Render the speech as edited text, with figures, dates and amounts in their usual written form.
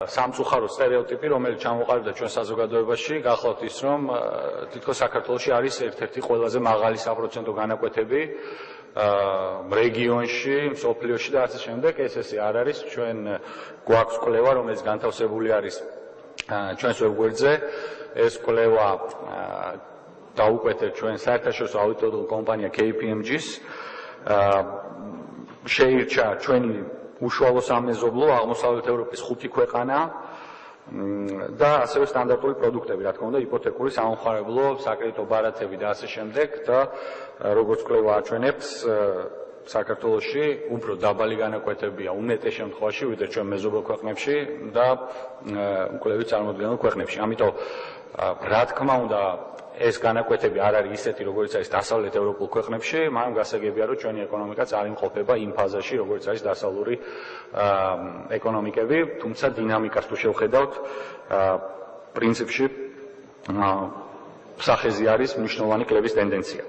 სამწუხარო სტერეოტიპი, რომელიც ჩამოყალიბდა ჩვენ საზოგადოებაში, გახლავთ ის, რომ თითქოს საქართველოში არის ერთ-ერთი ყველაზე მაღალი საპროცენტო განაკვეთები რეგიონში, მსოფლიოში და ასე შემდეგ. ეს არ არის. ჩვენ გვაქვს კვლევა, რომელიც განთავსებული არის ჩვენს ვებგვერდზე. ეს კვლევა დაუკვეთეთ ჩვენ საერთაშორისო აუდიტორულ კომპანია KPMG-ს. შეირჩა ჩვენი უშუალო სამეზობლო აღმოსავლეთ ევროპის 5 ქვეყანა და ასევე სტანდარტული პროდუქტები, რა თქმა უნდა, იპოთეკური სამომხმარებლო, საკრედიტო ბარათები და ასე შემდეგ და როგორც კვლევა აჩვენებს, საქართველოში უფრო დაბალი განაკვეთებია უმეტეს შემთხვევაში, ვიდრე ჩვენ მეზობელ ქვეყნებში და კვლევით წარმოდგენილ ქვეყნებში. ამიტომ რა თქმა უნდა, ეს განაკვეთები არ არის ისეთი, როგორც არის დასავლეთ ევროპულ ქვეყნებში, მაგრამ გასაგებია, რომ ჩვენი ეკონომიკა წარიმყოფება იმ ფაზაში, როგორც არის დასავლური ეკონომიკები, თუმცა დინამიკას თუ შევხედავთ, პრინციპში სახეზე არის მნიშვნელოვანი კლევის ტენდენცია.